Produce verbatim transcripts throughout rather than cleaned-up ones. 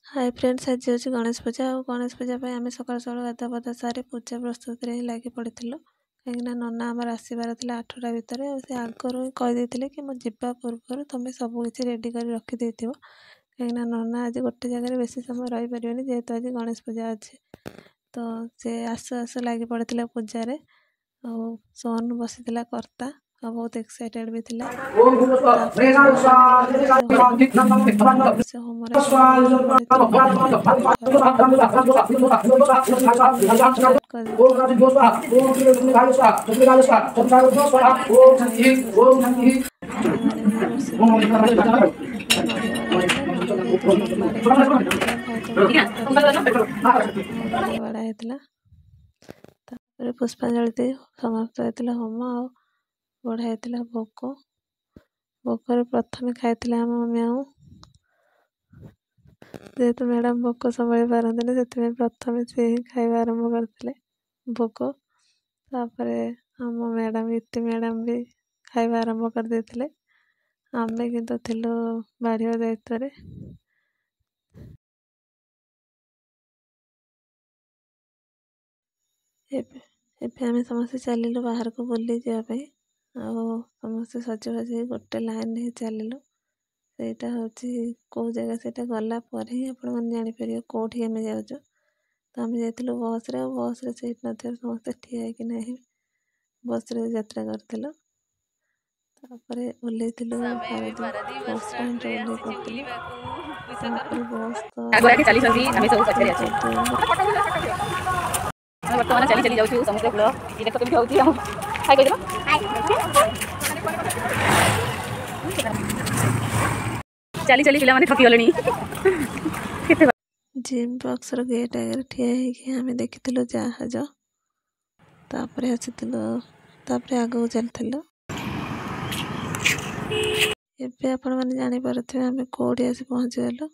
ହାଏ friends, ଆଜି ହେଉଛି ଗଣେଶ ପୂଜା। ଆଉ ଗଣେଶ ପୂଜା ପାଇଁ ଆମେ ସକାଳୁ ସକାଳୁ ଗାଧୁଆ ପାଧୁଆ ସାରି ପୂଜା ପ୍ରସ୍ତୁତିରେ ହିଁ ଲାଗି ପଡ଼ିଥିଲୁ, କାହିଁକିନା ନନା ଆମର ଆସିବାର ଥିଲା ଆଠଟା ଭିତରେ। ଆଉ ସେ ଆଗରୁ ହିଁ କହିଦେଇଥିଲେ କି ମୁଁ ଯିବା ପୂର୍ବରୁ ତୁମେ ସବୁ କିଛି ରେଡ଼ି କରି ରଖିଦେଇଥିବ, କାହିଁକିନା ନନା ଆଜି ଗୋଟେ ଜାଗାରେ ବେଶୀ ସମୟ ରହିପାରିବେନି, ଯେହେତୁ ଆଜି ଗଣେଶ ପୂଜା ଅଛି। ତ ସେ ଆସୁ ଆସୁ ଲାଗି ପଡ଼ିଥିଲା ପୂଜାରେ। ଆଉ ସୋନ ବସିଥିଲା କର୍ତ୍ତା, ଆଉ ବହୁତ ଏକ୍ସାଇଟେଡ଼ ବି ଥିଲା। ତାପରେ ସେ ହୋମରେ ଷ୍ଟାର୍ଟ କରିଦେଇଥିଲା। ଭାଇମାନେ ବି ବସିଥିଲେ। ନଡ଼ିଆ ବାଡ଼ା ହେଇଥିଲା। ନଡ଼ିଆ ଯେହେତୁ ସୋମବାର ହେଇଥିଲା, ଭାଇ ତ ପୂଜା କରିଥିଲେ, ନଡ଼ିଆ ବାଡ଼ା ହେଇଥିଲା। ତାପରେ ପୁଷ୍ପାଞ୍ଜଳି ଦେଇ ସମାପ୍ତ ହେଇଥିଲା ହୋମ ଆଉ ବଢ଼ା ହେଇଥିଲା ଭୋଗ। ଭୋଗରେ ପ୍ରଥମେ ଖାଇଥିଲେ ଆମ ମ୍ୟାଉ। ଯେହେତୁ ମ୍ୟାଡ଼ାମ୍ ଭୋକ ସମ୍ଭାଳି ପାରନ୍ତିନି, ସେଥିପାଇଁ ପ୍ରଥମେ ସେ ହିଁ ଖାଇବା ଆରମ୍ଭ କରିଥିଲେ ଭୋଗ। ତାପରେ ଆମ ମ୍ୟାଡ଼ାମ୍, ଇତି ମ୍ୟାଡ଼ାମ୍ ବି ଖାଇବା ଆରମ୍ଭ କରିଦେଇଥିଲେ। ଆମେ କିନ୍ତୁ ଥିଲୁ ବାଢ଼ିବା ଦାୟିତ୍ୱରେ। ଏବେ ଏବେ ଆମେ ସମସ୍ତେ ଚାଲିଲୁ ବାହାରକୁ ବୁଲି ଯିବା ପାଇଁ। ଆଉ ସମସ୍ତେ ସଜବାଜ ହେଇ ଗୋଟେ ଲାଇନ୍ରେ ହିଁ ଚାଲିଲୁ। ସେଇଟା ହେଉଛି କେଉଁ ଜାଗା, ସେଇଟା ଗଲା ପରେ ହିଁ ଆପଣମାନେ ଜାଣିପାରିବେ କେଉଁଠି ଆମେ ଯାଉଛୁ। ତ ଆମେ ଯାଇଥିଲୁ ବସ୍ରେ, ଆଉ ବସ୍ରେ ସିଟ୍ ନଥିବାରୁ ସମସ୍ତେ ଠିଆ ହେଇକିନା ହିଁ ବସ୍ରେ ଯାତ୍ରା କରିଥିଲୁ। ତାପରେ ଓହ୍ଲେଇଥିଲୁ ଆମେ ଏବେ ପାରାଦ୍ୱୀପ ପାରାଦୀପ ବସ୍ ବସ୍ ଷ୍ଟାଣ୍ଡରେ ଷ୍ଟାଣ୍ଡରେ ଓହ୍ଲେଇ ଆସିଛୁ ପଡ଼ିଥିଲୁ। ବୁଲିବାକୁ। ତାପରେ ବସ୍ ତ ଆଗରେ ଆଗେ ଚାଲିଛନ୍ତି, ଆମେ ସବୁ ପଛରେ ଅଛୁ। ଆମେ ବର୍ତ୍ତମାନ ଚାଲି ଚାଲି ଯାଉଛୁ ସମୁଦ୍ର କୂଳ। ଏ ଦେଖ କେମିତି ହଉଛି ଆମ। ହାଇ କହିଦେଲ। ଚାଲି ଚାଲି ପିଲାମାନେ ଥକି ଗଲେଣି କେତେ। ଜିମ୍ ବକ୍ସର ଗେଟ୍ ଆଗରେ ଠିଆ ହେଇକି ଆମେ ଦେଖିଥିଲୁ ଜାହାଜ। ତାପରେ ଆସିଥିଲୁ, ତାପରେ ଆଗକୁ ଚାଲିଥିଲୁ। ଏବେ ଆପଣମାନେ ଜାଣିପାରୁଥିବେ ଆମେ କେଉଁଠି ଆସି ପହଞ୍ଚିଗଲୁ।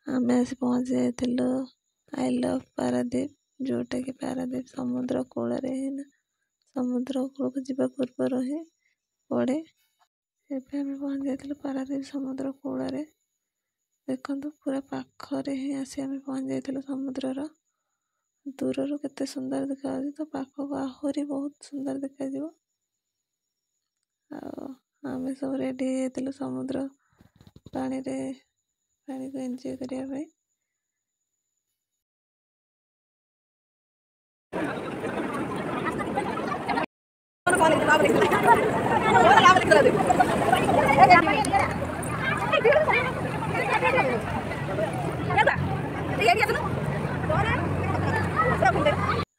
ଆମେ ଆସି ପହଞ୍ଚି ଯାଇଥିଲୁ I love Paradip, ଯେଉଁଟାକି ପାରାଦ୍ୱୀପ ସମୁଦ୍ର କୂଳରେ ହିଁ ନା, ସମୁଦ୍ର କୂଳକୁ ଯିବା ପୂର୍ବରୁ ହିଁ ପଡ଼େ। ଏବେ ଆମେ ପହଞ୍ଚି ଯାଇଥିଲୁ ପାରାଦ୍ୱୀପ ସମୁଦ୍ର କୂଳରେ। ଦେଖନ୍ତୁ, ପୁରା ପାଖରେ ହିଁ ଆସି ଆମେ ପହଞ୍ଚି ଯାଇଥିଲୁ। ସମୁଦ୍ରର ଦୂରରୁ କେତେ ସୁନ୍ଦର ଦେଖାଯାଉଛି, ତ ପାଖକୁ ଆହୁରି ବହୁତ ସୁନ୍ଦର ଦେଖାଯିବ। ଆଉ ଆମେ ସବୁ ରେଡ଼ି ହେଇଯାଇଥିଲୁ ସମୁଦ୍ର ପାଣିରେ ପାଣିକୁ ଏନ୍ଜୟ କରିବା ପାଇଁ।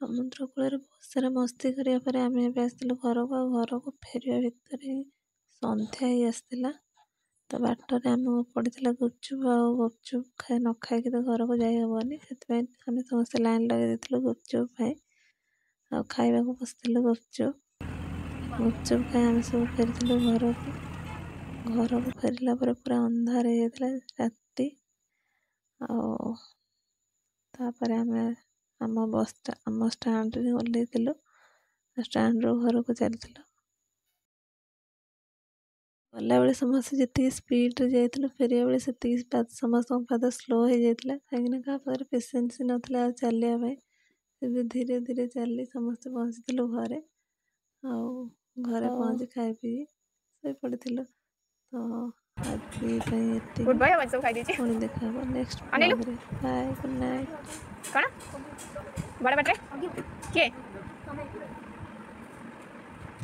ସମୁଦ୍ର କୂଳରେ ବହୁତ ସାରା ମସ୍ତି କରିବା ପରେ ଆମେ ଏବେ ଆସିଥିଲୁ ଘରକୁ। ଆଉ ଘରକୁ ଫେରିବା ଭିତରେ ହିଁ ସନ୍ଧ୍ୟା ହେଇ ଆସିଥିଲା। ତ ବାଟରେ ଆମକୁ ପଡ଼ିଥିଲା ଗୁପଚୁପ୍। ଆଉ ଗୁପଚୁପ୍ ଖାଇ ନ ଖାଇକି ତ ଘରକୁ ଯାଇ ହେବନି, ସେଥିପାଇଁ ଆମେ ସମସ୍ତେ ଲାଇନ୍ ଲଗାଇ ଦେଇଥିଲୁ ଗୁପଚୁପ୍ ପାଇଁ ଆଉ ଖାଇବାକୁ ବସିଥିଲୁ ଗୁପଚୁପ୍। ଗୁପଚୁପ୍ ଖାଇ ଆମେ ସବୁ ଫେରିଥିଲୁ ଘରକୁ। ଘରକୁ ଫେରିଲା ପରେ ପୁରା ଅନ୍ଧାର ହେଇଯାଇଥିଲା ରାତି। ଆଉ ତାପରେ ଆମେ ଆମ ବସ୍ ଆମ ଷ୍ଟାଣ୍ଡରେ ଓହ୍ଲେଇଥିଲୁ, ଷ୍ଟାଣ୍ଡରୁ ଘରକୁ ଚାଲିଥିଲୁ। ଗଲାବେଳେ ସମସ୍ତେ ଯେତିକି ସ୍ପିଡ଼ରେ ଯାଇଥିଲୁ, ଫେରିବା ବେଳେ ସେତିକି ସମସ୍ତଙ୍କ ପାଦ ସ୍ଲୋ ହେଇଯାଇଥିଲା, କାହିଁକିନା କାହା ପାଖରେ ପେସେନ୍ସ ନଥିଲା ଆଉ ଚାଲିବା ପାଇଁ। ଏବେ ଧୀରେ ଧୀରେ ଚାଲି ସମସ୍ତେ ପହଞ୍ଚିଥିଲୁ ଘରେ। ଆଉ ଘରେ ପହଞ୍ଚି ଖାଇ ପିଇ ଶୋଇପଡ଼ିଥିଲୁ। ତ ଆଜି ପାଇଁ ଏତିକି। ଗୁଡ୍ ବାଇ। ଆଉ ସବୁ ଖାଇଦେଇଛି। ପୁଣି ଦେଖା ହେବ ନେକ୍ସଟ ଅନେଇଲୁ। ବ୍ଲଗ୍ରେ। Bye, good night. କ'ଣ ବଡ଼ ପାଟିରେ କିଏ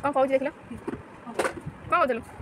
କ'ଣ କହୁଛି ଦେଖିଲ? କ'ଣ କହୁଥିଲୁ କିଛି?